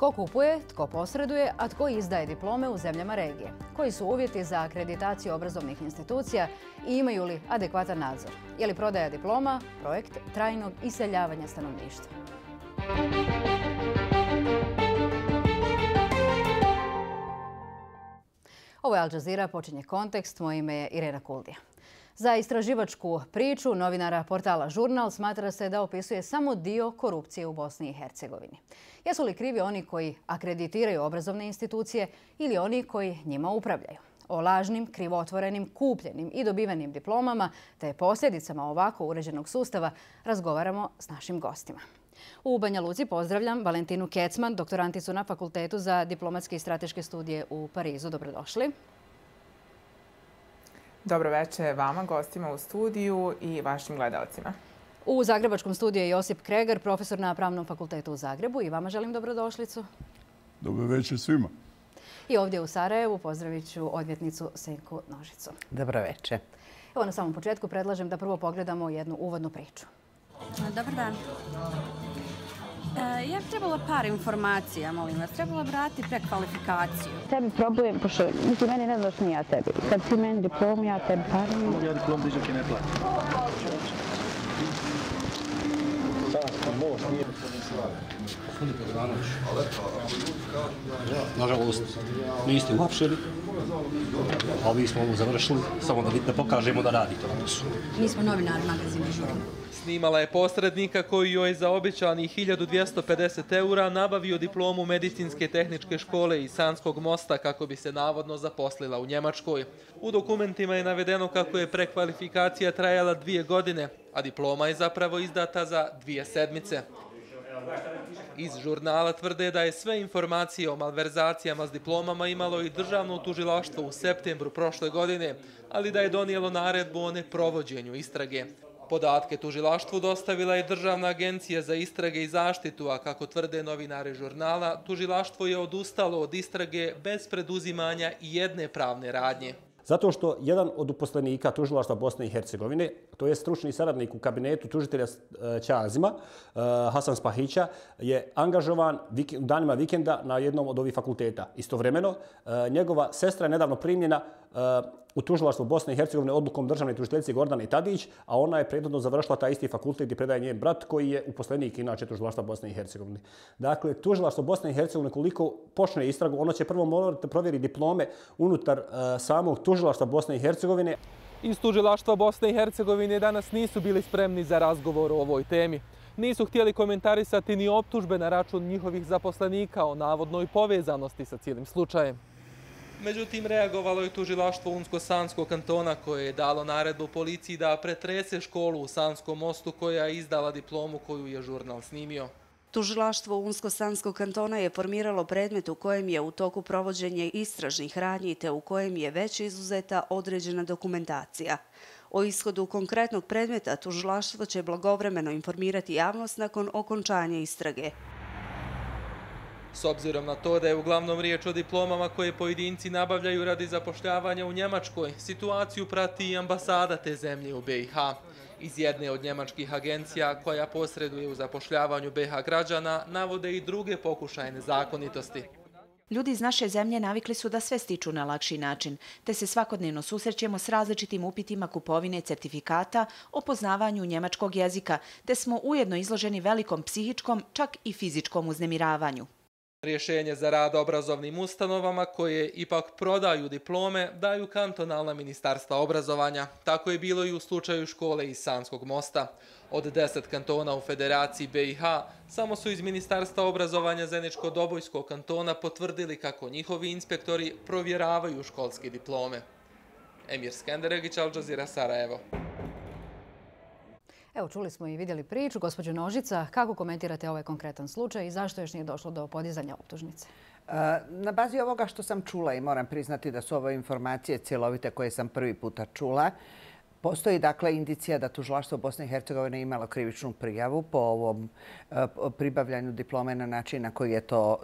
Tko kupuje, tko posreduje, a tko izdaje diplome u zemljama regije? Koji su uvjeti za akreditaciju obrazovnih institucija i imaju li adekvatan nadzor? Je li prodaja diploma projekt trajnog iseljavanja stanovništva? Ovo je Al Jazeera, počinje Kontekst. Moje ime je Irena Kuldija. Za istraživačku priču novinara portala Žurnal smatra se da opisuje samo dio korupcije u Bosni i Hercegovini. Jesu li krivi oni koji akreditiraju obrazovne institucije ili oni koji njima upravljaju? O lažnim, krivotvorenim, kupljenim i dobivenim diplomama te posljedicama ovako uređenog sustava razgovaramo s našim gostima. U Banja Luci pozdravljam Valentinu Kecman, doktoranticu na Fakultetu za diplomatske i strateške studije u Parizu. Dobrodošli. Dobro večer vama, gostima u studiju i vašim gledalcima. U zagrebačkom studiju je Josip Kregar, profesor na Pravnom fakultetu u Zagrebu. I vama želim dobrodošlicu. Dobro večer svima. I ovdje u Sarajevu pozdravit ću odvjetnicu Senku Nožicu. Dobro večer. Evo, na samom početku predlažem da prvo pogledamo jednu uvodnu priču. Dobar dan. Ja bih trebala par informacija, molim vas. Trebala vratiti prekvalifikaciju. Tebi problem, pošto niti meni ne znaš ni ja tebi. Kad ti meni diplom, ja tebi parim. Ja diplom dižak i ne plati. Nažalost, niste uhapšeni, a vi smo ovo završili, samo da pokažemo da radite na poslu. Mi smo novinari magazina Žurnal. Snimala je posrednika koji joj za obećanih 1250 € nabavio diplomu medicinske tehničke škole iz Sanskog mosta kako bi se navodno zaposlila u Njemačkoj. U dokumentima je navedeno kako je prekvalifikacija trajala 2 godine, a diploma je zapravo izdata za 2 sedmice. Iz Žurnala tvrde da je sve informacije o malverzacijama s diplomama imalo i državno tužilaštvo u septembru prošle godine, ali da je donijelo naredbu o neprovođenju istrage. Podatke tužilaštvu dostavila je Državna agencija za istrage i zaštitu, a kako tvrde novinari Žurnala, tužilaštvo je odustalo od istrage bez preduzimanja i jedne pravne radnje. Zato što jedan od uposlenika tužilaštva Bosne i Hercegovine, to je stručni saradnik u kabinetu tužitelja Ćazima, Hasan Spahića, je angažovan u danima vikenda na jednom od ovih fakulteta. Istovremeno, njegova sestra je nedavno primljena u tužilaštvu Bosne i Hercegovine odlukom državne tužiteljice Gordane Tadić, a ona je prethodno završila taj isti fakultet i predaje njen brat koji je uposlenik inače tužilaštva Bosne i Hercegovine. Dakle, tužilaštvo Bosne i Hercegovine koliko počne istragu, ono će prvo morati provjeriti diplome unutar samog tužilaštva Bosne i Hercegovine. Iz tužilaštva Bosne i Hercegovine danas nisu bili spremni za razgovor o ovoj temi. Nisu htjeli komentarisati ni optužbe na račun njihovih zaposlenika o navodnoj povezanosti sa cijelim slučajem. Međutim, reagovalo je tužilaštvo Unsko-Sanskog kantona koje je dalo naredbu policiji da pretrese školu u Sanskom mostu koja je izdala diplomu koju je Žurnal snimio. Tužilaštvo Unsko-Sanskog kantona je formiralo predmet u kojem je u toku provođenje istražnih radnji te u kojem je već izuzeta određena dokumentacija. O ishodu konkretnog predmeta tužilaštvo će blagovremeno informirati javnost nakon okončanja istrage. S obzirom na to da je uglavnom riječ o diplomama koje pojedinci nabavljaju radi zapošljavanja u Njemačkoj, situaciju prati i ambasada te zemlje u BiH. Iz jedne od njemačkih agencija koja posreduje u zapošljavanju BiH građana navode i druge pokušaje nezakonitosti. Ljudi iz naše zemlje navikli su da sve stiču na lakši način, te se svakodnevno susrećemo s različitim upitima kupovine certifikata o poznavanju njemačkog jezika, te smo ujedno izloženi velikom psihičkom, čak i fizičkom uznemiravanju. Rješenje za rad obrazovnim ustanovama koje ipak prodaju diplome daju kantonalna ministarstva obrazovanja. Tako je bilo i u slučaju škole iz Sanskog mosta. Od 10 kantona u Federaciji BiH samo su iz Ministarstva obrazovanja Zeničko-Dobojskog kantona potvrdili kako njihovi inspektori provjeravaju školske diplome. Emir Skenderegić, Al Jazeera, Sarajevo. Evo, čuli smo i vidjeli priču. Gospođo Nožica, kako komentirate ovaj konkretan slučaj i zašto još nije došlo do podizanja optužnice? Na bazi ovoga što sam čula i moram priznati da su ovo informacije cjelovite koje sam prvi puta čula, Postoji dakle indicija da tužilaštvo Bosne i Hercegovine imalo krivičnu prijavu po ovom pribavljanju diplome na način na koji je to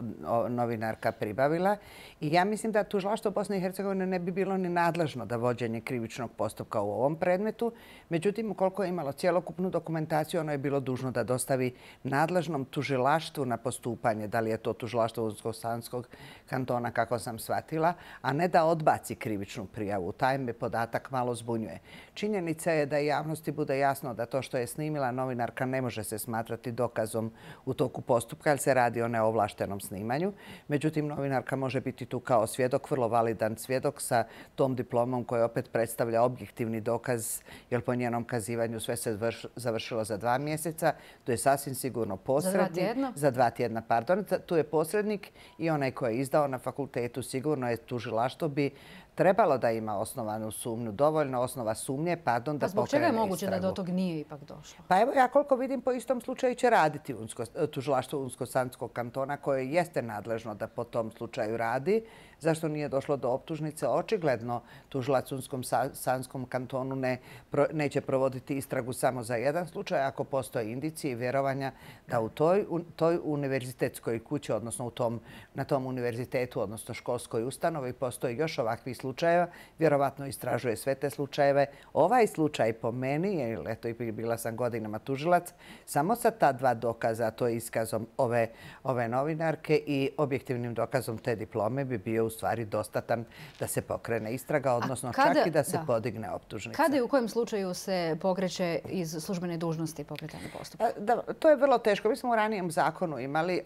novinarka pribavila. I ja mislim da tužilaštvo Bosne i Hercegovine ne bi bilo ni nadležno da vođenje krivičnog postupka u ovom predmetu. Međutim, ukoliko je imalo cjelokupnu dokumentaciju, ono je bilo dužno da dostavi nadležnom tužilaštvu na postupanje, da li je to tužilaštvo Unsko-Sanskog kantona, kako sam shvatila, a ne da odbaci krivičnu prijavu. Taj me podatak malo zbunjuje. Činjenica je da javnosti bude jasno da to što je snimila novinarka ne može se smatrati dokazom u toku postupka, jer se radi o neovlaštenom snimanju. Međutim, novinarka može biti tu kao svjedok, vrlo validan svjedok sa tom diplomom koja opet predstavlja objektivni dokaz, jer po njenom kazivanju sve se završilo za 2 mjeseca. To je sasvim sigurno posrednik. Za 2 tjedna? Za 2 tjedna, pardon. Tu je posrednik i onaj koji je izdao na fakultetu. Sigurno je tužilaštvo bi trebalo da ima osnovanu sumnju, dovoljno osnova sumnje, da pokrene istragu. Zbog čega je moguće da do tog nije ipak došlo? Pa evo, ja koliko vidim, po istom slučaju će raditi tužilaštvo Unsko-Sanskog kantona, koje jeste nadležno da po tom slučaju radi. Zašto nije došlo do optužnice? Očigledno tužilac u Unsko-Sanskom kantonu neće provoditi istragu samo za jedan slučaj, ako postoje indicije i vjerovanja da u toj univerzitetskoj kući, odnosno na tom univerzitetu, odnosno školskoj ustanovi, postoji još ovakvih slučajeva. Vjerovatno istražuje sve te slučajeve. Ovaj slučaj po meni, jer eto, bila sam godinama tužilac, samo sa ta 2 dokaza, to je iskazom ove novinarke i objektivnim dokazom te diplome, bi bio u stvari dostatan da se pokrene istraga, odnosno čak i da se podigne optužnica. Kada i u kojem slučaju se pokreće iz službene dužnosti pokretanje postupka? To je vrlo teško. Mi smo u ranijem zakonu imali,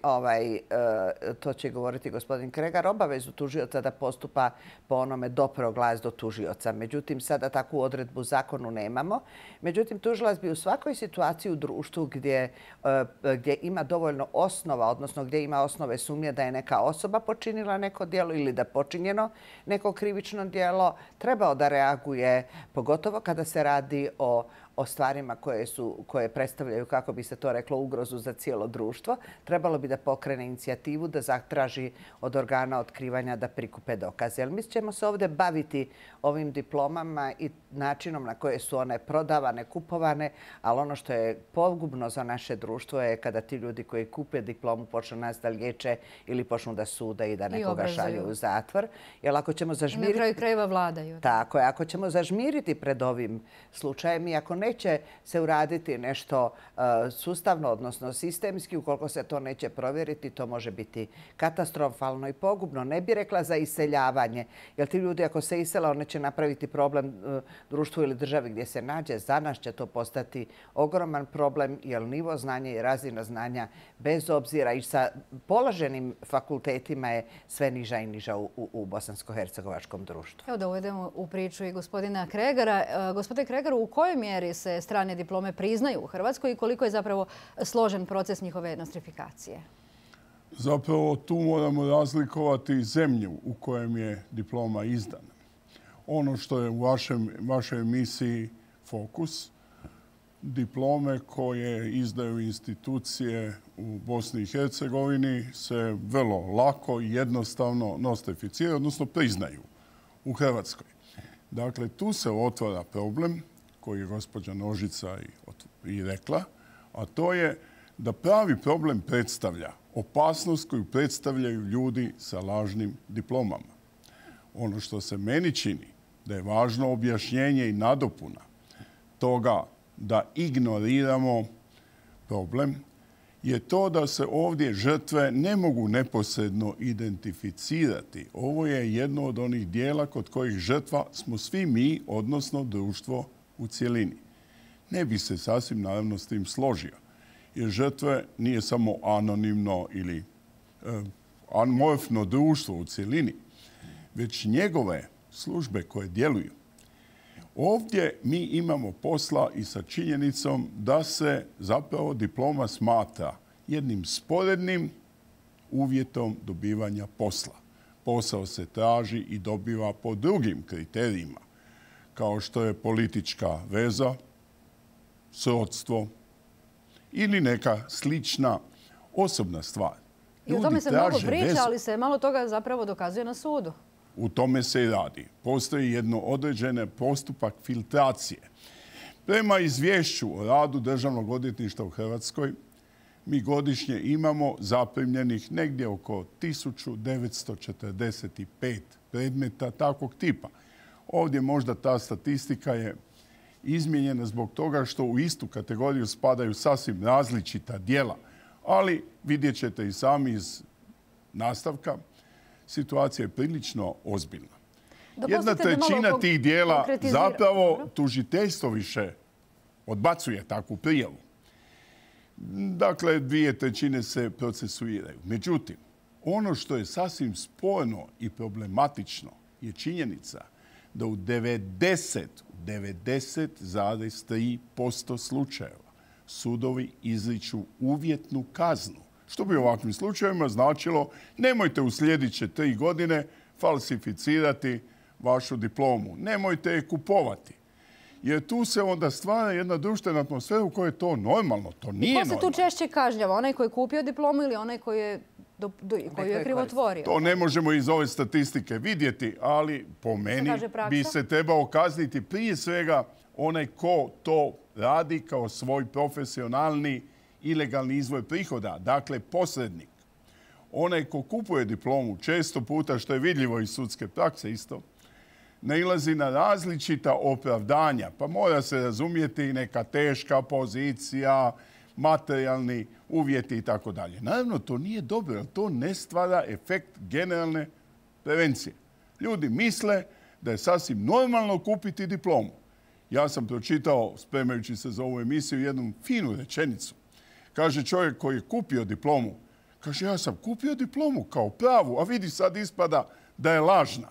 to će govoriti gospodin Kregar, obavezu tužioca da postupa po onome dopro glas do tužioca. Međutim, sada takvu odredbu u zakonu nemamo. Međutim, tužilac bi u svakoj situaciji u društvu gdje ima dovoljno osnova, odnosno gdje ima osnove sumnje da je neka osoba počinila neko djelo ili da počinjeno neko krivično djelo, trebao da reaguje, pogotovo kada se radi o stvarima koje predstavljaju, kako bi se to reklo, ugrozu za cijelo društvo. Trebalo bi da pokrene inicijativu, da zatraži od organa otkrivanja da prikupe dokaze. Jer mi ćemo se ovdje baviti ovim diplomama i načinom na koje su one prodavane, kupovane, ali ono što je pogubno za naše društvo je kada ti ljudi koji kupe diplomu počnu nas da liječe ili počnu da sude i da nekoga šalju u zatvor. Jer ako ćemo zažmiriti... Na kraju krajeva vladaju. Tako je. Ako ćemo zažmiriti pred ovim slučajem i ako neće se uraditi nešto sustavno, odnosno sistemski, ukoliko se to neće provjeriti, to može biti katastrofalno i pogubno. Ne bi rekla za iseljavanje, jer ti ljudi ako se isele, one će napraviti problem društvu ili državi gdje se nađe. Za nas će to postati ogroman problem, jer nivo znanja i razina znanja, bez obzira i sa položenim fakultetima, je sve niža i niža u bosansko-hercegovačkom društvu. Evo da uvedemo u priču i gospodina Kregara. Gospodine Kregaru, u kojoj mjeri se strane diplome priznaju u Hrvatskoj i koliko je zapravo složen proces njihove nostrifikacije? Zapravo tu moramo razlikovati zemlju u kojem je diploma izdana. Ono što je u vašoj emisiji Fokus, diplome koje izdaju institucije u Bosni i Hercegovini se vrlo lako i jednostavno nostrificiraju, odnosno priznaju u Hrvatskoj. Dakle, tu se otvara problem koji je gospođa Nožica i rekla, a to je da pravi problem predstavlja opasnost koju predstavljaju ljudi sa lažnim diplomama. Ono što se meni čini da je važno objašnjenje i nadopuna toga da ignoriramo problem je to da se ovdje žrtve ne mogu neposredno identificirati. Ovo je jedno od onih dijela kod kojih žrtva smo svi mi, odnosno društvo u cjelini. Ne bi se sasvim naravno s tim složio, jer žrtve nije samo anonimno ili amorfno društvo u cjelini, već njegove službe koje djeluju. Ovdje mi imamo posla i sa činjenicom da se zapravo diploma smatra jednim sporednim uvjetom dobivanja posla. Posao se traži i dobiva po drugim kriterijima, kao što je politička veza, srodstvo ili neka slična osobna stvar. I o tome se mnogo priča, ali se malo toga zapravo dokazuje na sudu. U tome se i radi. Postoji jedno određene postupak filtracije. Prema izvješću o radu Državnog odvjetništva u Hrvatskoj, mi godišnje imamo zaprimljenih negdje oko 1945 predmeta takvog tipa. Ovdje možda ta statistika je izmijenjena zbog toga što u istu kategoriju spadaju sasvim različita djela. Ali vidjet ćete i sami iz nastavka, situacija je prilično ozbiljna. Jedna trećina tih djela zapravo tužiteljstvo više odbacuje takvu prijavu. Dakle, 2/3 se procesuiraju. Međutim, ono što je sasvim sporno i problematično je činjenica da u 90,3% slučajeva sudovi izriču uvjetnu kaznu. Što bi u ovakvim slučajevima značilo nemojte u sljedeće 3 godine falsificirati vašu diplomu. Nemojte je kupovati. Jer tu se onda stvara jedna društvena atmosfera u kojoj je to normalno. To nije normalno. Ko se tu češće kažnjava? Onaj koji je kupio diplomu ili onaj koji je krivotvorio? To ne možemo iz ove statistike vidjeti, ali po meni bi se trebao kazniti prije svega onaj ko to radi kao svoj profesionalni ilegalni izvor prihoda, dakle posrednik. Onaj ko kupuje diplomu, često puta, što je vidljivo iz sudske prakse isto, nailazi na različita opravdanja, pa mora se razumjeti neka teška pozicija, materijalni uvjeti i tako dalje. Naravno, to nije dobro, jer to ne stvara efekt generalne prevencije. Ljudi misle da je sasvim normalno kupiti diplomu. Ja sam pročitao, spremajući se za ovu emisiju, jednu finu rečenicu. Kaže čovjek koji je kupio diplomu, kaže ja sam kupio diplomu kao pravu, a vidi sad ispada da je lažna.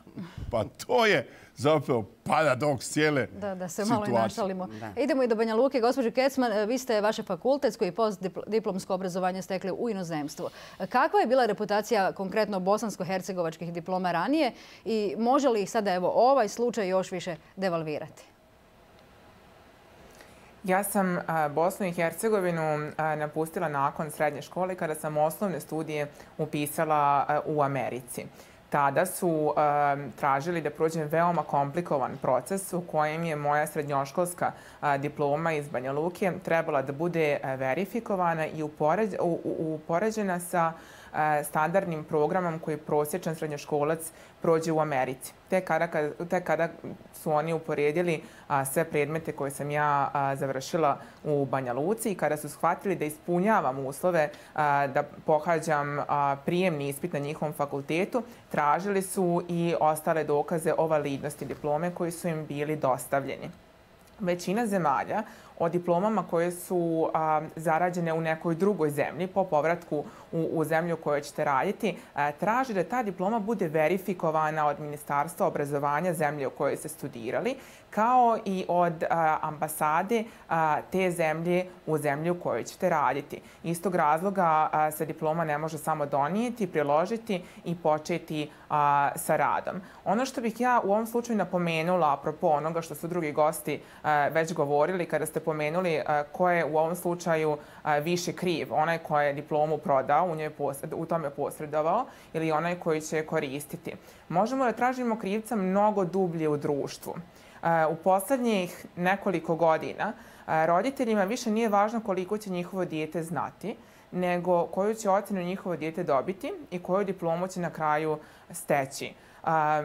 Pa to je zapravo paradoks cijele situacije. Da se malo i našalimo. Idemo i do Banja Luke. Gospođo Kecman, vi ste vaše fakultetsko i postdiplomsko obrazovanje stekli u inozemstvu. Kakva je bila reputacija konkretno bosansko-hercegovačkih diploma ranije i može li sada ovaj slučaj još više devalvirati? Ja sam Bosnu i Hercegovinu napustila nakon srednje škole kada sam osnovne studije upisala u Americi. Tada su tražili da prođem veoma komplikovan proces u kojem je moja srednjoškolska diploma iz Banja Luke trebala da bude verifikovana i upoređena sa standardnim programom koji prosječan srednjoškolac prođe u Americi. Tek kada su oni uporedili sve predmete koje sam ja završila u Banja Luci i kada su shvatili da ispunjavam uslove da pohađam prijemni ispit na njihovom fakultetu, tražili su i ostale dokaze o validnosti diplome koji su im bili dostavljeni. Većina zemalja o diplomama koje su zarađene u nekoj drugoj zemlji po povratku u zemlju u kojoj ćete raditi, traži da ta diploma bude verifikovana od Ministarstva obrazovanja zemlje u kojoj ste studirali, kao i od ambasade te zemlje u zemlju u kojoj ćete raditi. Iz tog razloga se diploma ne može samo donijeti, priložiti i početi sa radom. Ono što bih ja u ovom slučaju napomenula, apropo onoga što su drugi gosti već govorili kada ste pomenuli ko je u ovom slučaju više kriv, onaj ko je diplomu prodao, u tome posredovao, ili onaj koji će koristiti. Možemo da tražimo krivca mnogo dublje u društvu. U poslednjih nekoliko godina roditeljima više nije važno koliko će njihovo dijete znati, nego koju će ocenu njihovo dijete dobiti i koju diplomu će na kraju steći.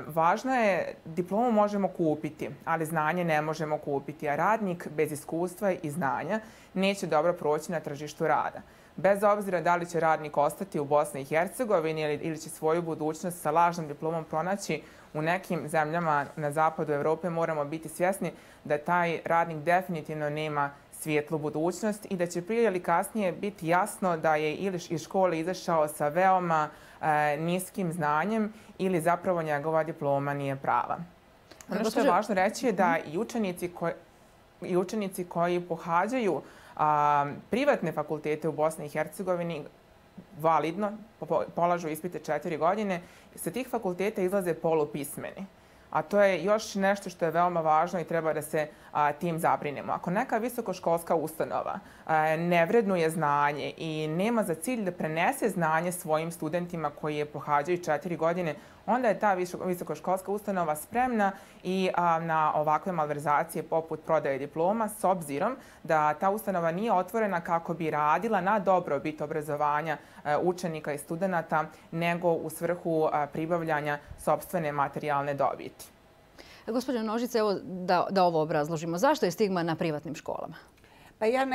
Važno je, diplomu možemo kupiti, ali znanje ne možemo kupiti, a radnik bez iskustva i znanja neće dobro proći na tržištu rada. Bez obzira da li će radnik ostati u Bosni i Hercegovini ili će svoju budućnost sa lažnom diplomom pronaći u nekim zemljama na zapadu Evrope, moramo biti svjesni da taj radnik definitivno nema svijetlu budućnost i da će prije ili kasnije biti jasno da je ili iz škole izašao sa veoma niskim znanjem ili zapravo njegova diploma nije prava. Ono što je važno reći je da i učenici koji pohađaju privatne fakultete u Bosni i Hercegovini validno polažu ispite 4 godine, sa tih fakulteta izlaze polupismeni. a to je još nešto što je veoma važno i treba da se tim zabrinemo. Ako neka visokoškolska ustanova ne vrednuje znanje i nema za cilj da prenese znanje svojim studentima koji je pohađaju 4 godine, onda je ta visokoškolska ustanova spremna i na ovakve malverzacije poput prodaje diploma, s obzirom da ta ustanova nije otvorena kako bi radila na dobrobit obrazovanja učenika i studenata, nego u svrhu pribavljanja sopstvene materijalne dobiti. Gospođo Nožice, evo da ovo obrazložimo. Zašto je stigma na privatnim školama? Pa ja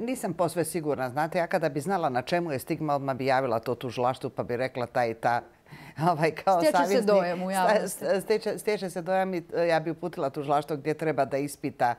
nisam posve sigurna. Znate, ja kada bi znala na čemu je stigma, odmah bi javila to tužilaštvu pa bi rekla ta i ta. Stječe se dojam u javnosti. Stječe se dojam i ja bi uputila tužilaštvo gdje treba da ispita,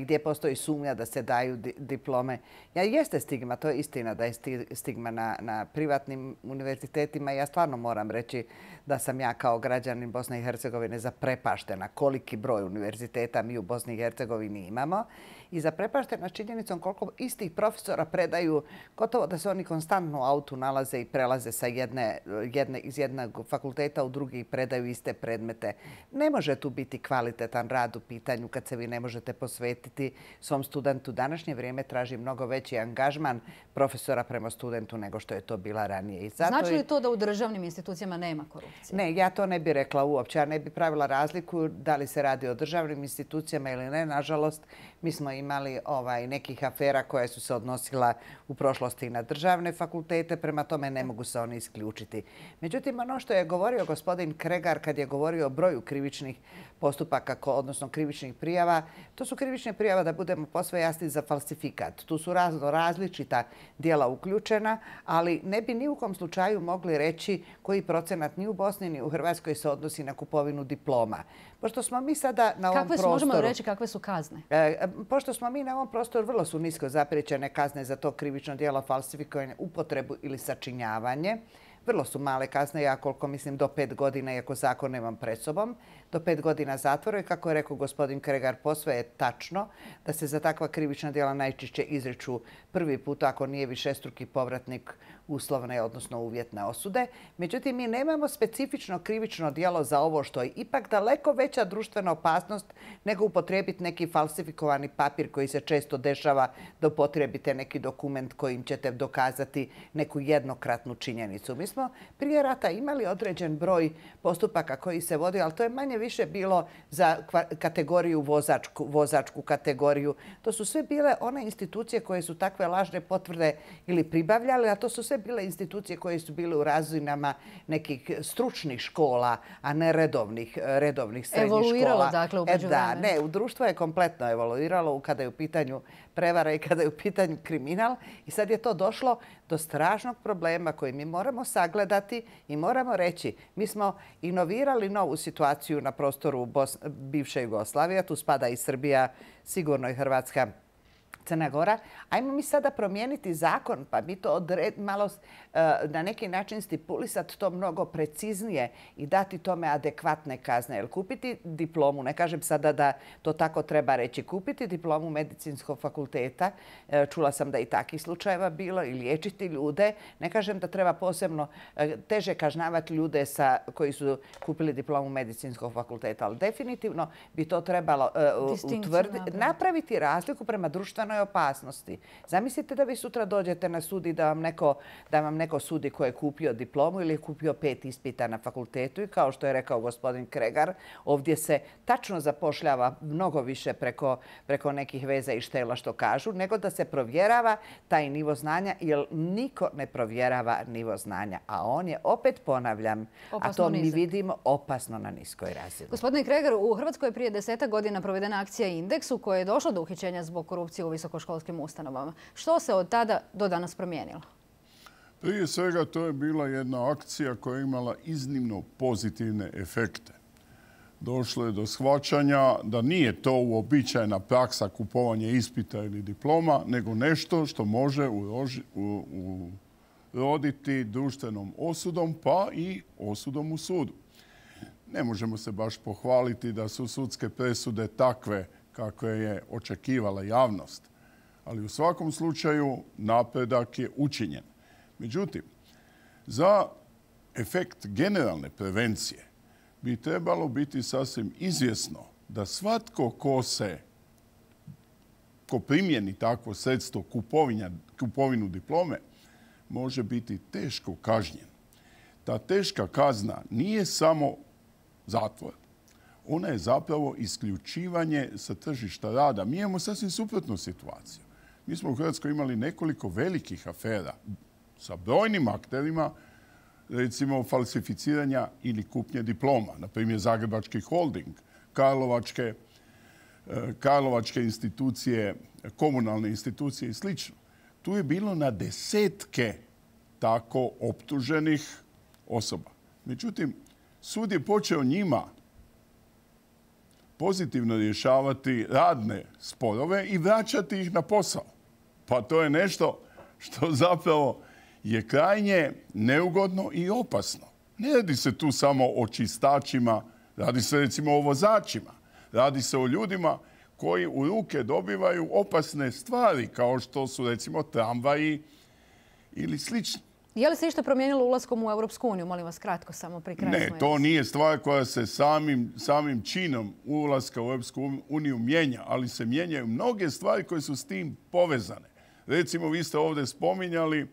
gdje postoji sumnja da se daju diplome. Jeste stigma, to je istina da je stigma na privatnim univerzitetima. Ja stvarno moram reći da sam ja kao građanin Bosne i Hercegovine zaprepaštena koliki broj univerziteta mi u Bosni i Hercegovini imamo i zaprepaštena činjenicom koliko istih profesora predaju, gotovo da se oni konstantno u autu nalaze i prelaze sa iz jednog fakulteta u drugi i predaju iste predmete. Ne može tu biti kvalitetan rad u pitanju kad se vi ne možete posvetiti svom studentu. Današnje vrijeme traži mnogo veći angažman profesora prema studentu nego što je to bila ranije. Znači li to da u državnim institucijama nema korupcije? Ne, ja to ne bih rekla uopće. Ja ne bih pravila razliku da li se radi o državnim institucijama ili ne. Nažalost, mi smo imali nekih afera koje su se odnosila u prošlosti na državne fakultete, prema tome ne mogu se oni isključiti. Međutim, ono što je govorio gospodin Kregar kad je govorio o broju krivičnih postupaka, odnosno krivičnih prijava, to su krivične prijava, da budemo posve jasni, za falsifikat. Tu su različita djela uključena, ali ne bi ni u kom slučaju mogli reći koji procenat ni u Bosni ni u Hrvatskoj se odnosi na kupovinu diploma. Pošto smo mi sada na ovom prostoru... Možemo reći kakve su kazne? Pošto smo mi na ovom prostoru, vrlo su nisko zapriječene kazne za to krivično djelo falsifikovanje, upotrebu ili sačinjavanje. Vrlo su male kazne, ja koliko mislim do 5 godina, iako zakon nemam pred sobom, do 5 godina zatvora i kako je rekao gospodin Kregar, posve je tačno da se za takva krivična djela najčešće izriču prvi put ako nije višestruki povratnik uslovne, odnosno uvjetne osude. Međutim, mi nemamo specifično krivično djelo za ovo što je ipak daleko veća društvena opasnost nego upotrijebiti neki falsifikovani papir koji se često dešava da upotrijebite neki dokument kojim ćete dokazati neku jednokratnu činjenicu. Mi smo prije rata imali određen broj postupaka koji se vodi, ali to je manje više bilo za kategoriju vozačku kategoriju. To su sve bile one institucije koje su takve lažne potvrde ili pribavljale, a to su sve bile institucije koje su bile u razinama nekih stručnih škola, a ne redovnih srednjih škola. Evoluiralo, dakle, u međuvremenu. Da, ne, društvo je kompletno evoluiralo kada je u pitanju prevara i kada je u pitanju kriminal. I sad je to došlo do strašnog problema koji mi moramo sagledati i moramo reći. Mi smo inovirali novu situaciju na prostoru bivše Jugoslavije. Tu spada i Srbija, sigurno i Hrvatska, Crna Gora. Ajmo mi sada promijeniti zakon pa mi to malo na neki način stipulisati to mnogo preciznije i dati tome adekvatne kazne. Jer kupiti diplomu, ne kažem sada da to tako treba reći, kupiti diplomu medicinskog fakulteta, čula sam da i takih slučajeva bilo, i liječiti ljude, ne kažem da treba posebno teže kažnjavati ljude koji su kupili diplomu medicinskog fakulteta, ali definitivno bi to trebalo napraviti razliku prema društvenoj opasnosti. Zamislite da vi sutra dođete na sud i da vam neko sudi ko je kupio diplomu ili je kupio 5 ispita na fakultetu i kao što je rekao gospodin Kregar, ovdje se tačno zapošljava mnogo više preko nekih veza i štela što kažu, nego da se provjerava taj nivo znanja, jer niko ne provjerava nivo znanja. A on je, opet ponavljam, a to mi vidimo, opasno na niskoj razini. Gospodine Kregar, u Hrvatskoj je prije 10 godina provedena akcija Indeks u kojoj je došlo do uhićenja zbog korupcije u visokoškolskim ustanovama. Što se od tada do danas promijenilo? Prije svega to je bila jedna akcija koja je imala iznimno pozitivne efekte. Došlo je do shvaćanja da nije to uobičajena praksa kupovanja ispita ili diploma, nego nešto što može uroditi društvenom osudom, pa i osudom u sudu. Ne možemo se baš pohvaliti da su sudske presude takve kakve je očekivala javnost, ali u svakom slučaju napredak je učinjen. Međutim, za efekt generalne prevencije bi trebalo biti sasvim izvjesno da svatko ko primjeni takvo sredstvo kupovinu diplome može biti teško kažnjen. Ta teška kazna nije samo zatvor. Ona je zapravo isključivanje sa tržišta rada. Mi imamo sasvim suprotnu situaciju. Mi smo u Hrvatskoj imali nekoliko velikih afera sa brojnim akterima, recimo falsificiranja ili kupnje diploma. Na primjer, Zagrebački holding, Karlovačke institucije, komunalne institucije i sl. Tu je bilo na desetke tako optuženih osoba. Međutim, sud je počeo njima pozitivno rješavati radne sporove i vraćati ih na posao. Pa to je nešto što zapravo je krajnje neugodno i opasno. Ne radi se tu samo o čistačima, radi se recimo o vozačima. Radi se o ljudima koji u ruke dobivaju opasne stvari, kao što su recimo tramvaji ili slično. Je li se išta promijenilo ulaskom u Europsku uniju? Molim vas kratko, samo pri kraju. Ne, to nije stvar koja se samim činom ulaska u Europsku uniju mijenja, ali se mijenjaju mnoge stvari koje su s tim povezane. Recimo, vi ste ovdje spominjali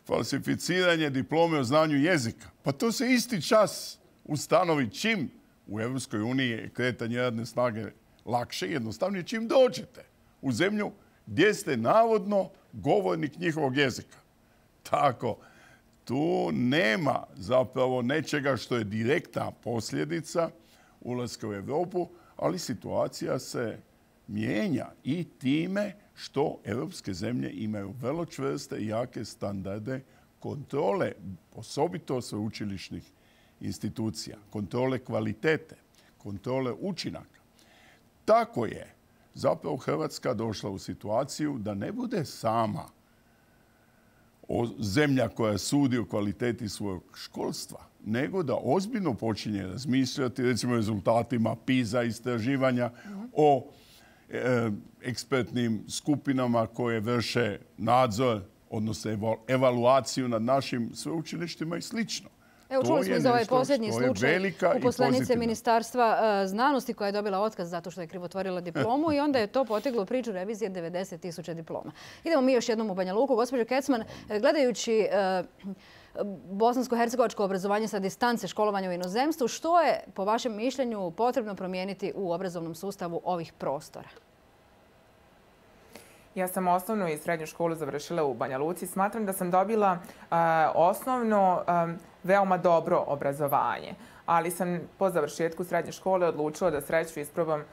falsificiranje diplome o znanju jezika. Pa to se isti čas ustanovi čim u Europskoj uniji je kretanje radne snage lakše i jednostavnije čim dođete u zemlju gdje ste navodno govornik njihovog jezika. Tako, tu nema zapravo nečega što je direktna posljedica ulaska u Europu, ali situacija se mijenja i time što europske zemlje imaju vrlo čvrste i jake standarde kontrole, osobito sveučilišnih institucija, kontrole kvalitete, kontrole učinaka. Tako je zapravo Hrvatska došla u situaciju da ne bude sama zemlja koja sudi o kvaliteti svojeg školstva, nego da ozbiljno počinje razmišljati recimo o rezultatima PISA istraživanja, o ekspertnim skupinama koje vrše nadzor, odnosno evaluaciju nad našim sveučilištima i slično. Evo, čuli smo za ovaj posljednji slučaj uposlenice Ministarstva znanosti koja je dobila otkaz zato što je krivotvorila diplomu i onda je to poteglo priču revizije 90.000 diploma. Idemo mi još jednom u Banja Luku. Gospođo Kecman, gledajući bosansko-hercegovačko obrazovanje sa distance školovanja u inozemstvu, što je po vašem mišljenju potrebno promijeniti u obrazovnom sustavu ovih prostora? Ja sam osnovnu i srednju školu završila u Banja Luci. Smatram da sam dobila osnovno veoma dobro obrazovanje, ali sam po završetku srednje škole odlučila da sreću isprobam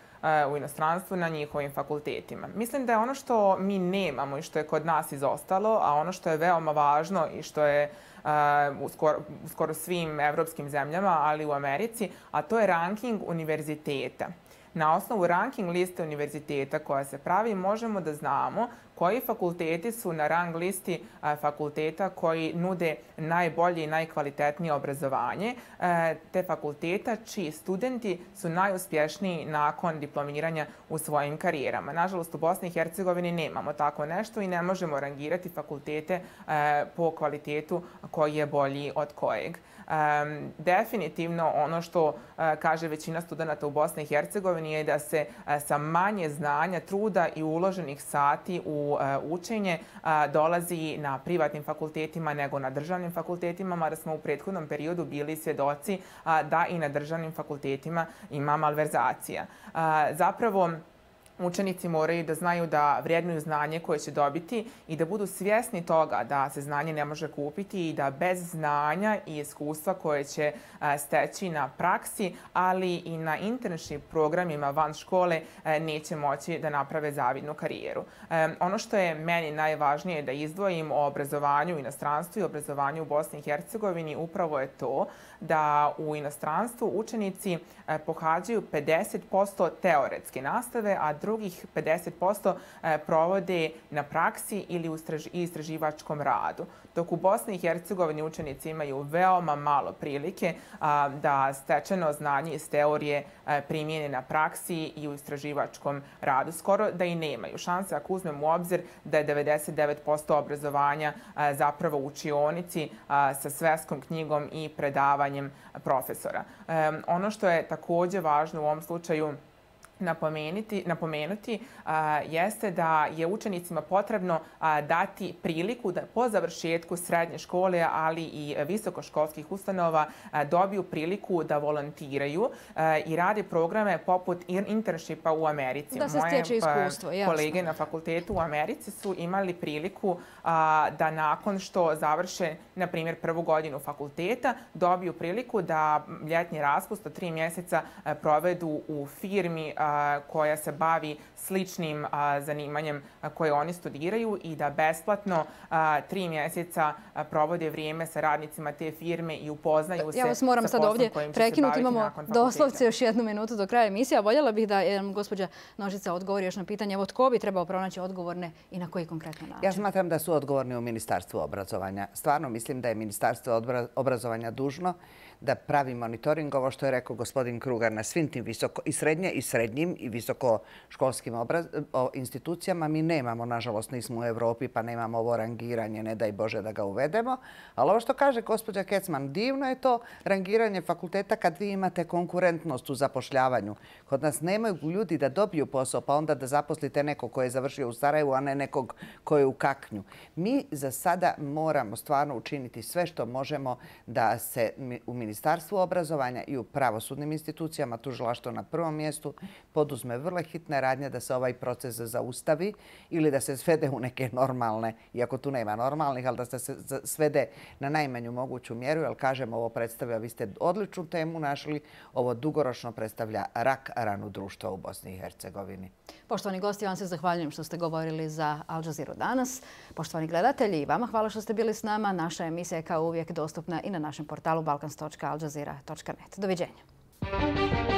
u inostranstvu na njihovim fakultetima. Mislim da je ono što mi nemamo i što je kod nas izostalo, a ono što je veoma važno i što je u skoro svim evropskim zemljama, ali i u Americi, a to je ranking univerziteta. Na osnovu ranking liste univerziteta koja se pravi možemo da znamo koji fakulteti su na rang listi fakulteta koji nude najbolje i najkvalitetnije obrazovanje, te fakulteta čiji studenti su najuspješniji nakon diplomiranja u svojim karijerama. Nažalost, u Bosni i Hercegovini nemamo tako nešto i ne možemo rangirati fakultete po kvalitetu koji je bolji od kojeg. Definitivno ono što kaže većina studenta u Bosni i Hercegovini je da se sa manje znanja, truda i uloženih sati u učenje dolazi na privatnim fakultetima nego na državnim fakultetima, mada smo u prethodnom periodu bili svjedoci da i na državnim fakultetima ima malverzacija. Zapravo, učenici moraju da znaju da vrednuju znanje koje će dobiti i da budu svjesni toga da se znanje ne može kupiti i da bez znanja i iskustva koje će steći na praksi, ali i na internship programima van škole neće moći da naprave zavidnu karijeru. Ono što je meni najvažnije da izdvojim o obrazovanju u inostranstvu i obrazovanju u Bosni i Hercegovini upravo je to da u inostranstvu učenici pohađaju 50% teoretske nastave, a drugih 50% provode na praksi ili u istraživačkom radu. Dok u Bosni i Hercegovini učenici imaju veoma malo prilike da stečeno znanje iz teorije primijene na praksi i u istraživačkom radu. Skoro da i nemaju šanse ako uzmemo u obzir da je 99% obrazovanja zapravo u učionici sa sveskom knjigom i predavanjem profesora. Ono što je također važno u ovom slučaju napomenuti jeste da je učenicima potrebno dati priliku da po završetku srednje škole, ali i visokoškolskih ustanova dobiju priliku da volontiraju i rade programe poput internshipa u Americi. Da se stječe iskustvo, jasno. Moje kolege na fakultetu u Americi su imali priliku da nakon što završe, na primjer, prvu godinu fakulteta, dobiju priliku da ljetni raspust od 3 mjeseca provedu u firmi koja se bavi sličnim zanimanjem koje oni studiraju i da besplatno 3 mjeseca provode vrijeme sa radnicima te firme i upoznaju se. Ja vas moram sad ovdje prekinuti. Imamo doslovce još 1 minutu do kraja emisije. Voljela bih da gospođa Nožica odgovori još na pitanje. Evo, tko bi trebao pronaći odgovorne i na koji konkretno način? Ja smatram da su odgovorni u Ministarstvu obrazovanja. Stvarno mislim da je Ministarstvo obrazovanja dužno da pravi monitoring, ovo što je rekao gospodin Krugar, na svim tim i srednjim i visokoškolskim institucijama. Mi nemamo, nažalost, nismo u Evropi pa nemamo ovo rangiranje, ne daj Bože da ga uvedemo. Ali ovo što kaže gospođa Kecman, divno je to rangiranje fakulteta kad vi imate konkurentnost u zapošljavanju. Kod nas nemaju ljudi da dobiju posao pa onda da zaposlite nekog koji je završio u Sarajevu, a ne nekog koji je u Kaknju. Mi za sada moramo stvarno učiniti sve što možemo da se u Ministarstvu obrazovanja i u pravosudnim institucijama, tužilaštvo na prvom mjestu, poduzme vrlo hitne radnje da se ovaj proces zaustavi ili da se svede u neke normalne, iako tu nema normalnih, ali da se svede na najmanju moguću mjeru, jer kažem, ovo predstavlja, vi ste odličnu temu našli, ovo dugoročno predstavlja rak ranu društva u Bosni i Hercegovini. Poštovani gosti, vam se zahvaljujem što ste govorili za Al Jazeera danas. Poštovani gledatelji, i vama hvala što ste bili s nama. Naša emisija je kao uvijek dostupna i na našem portalu balkans.aljazeera.net. Doviđenja.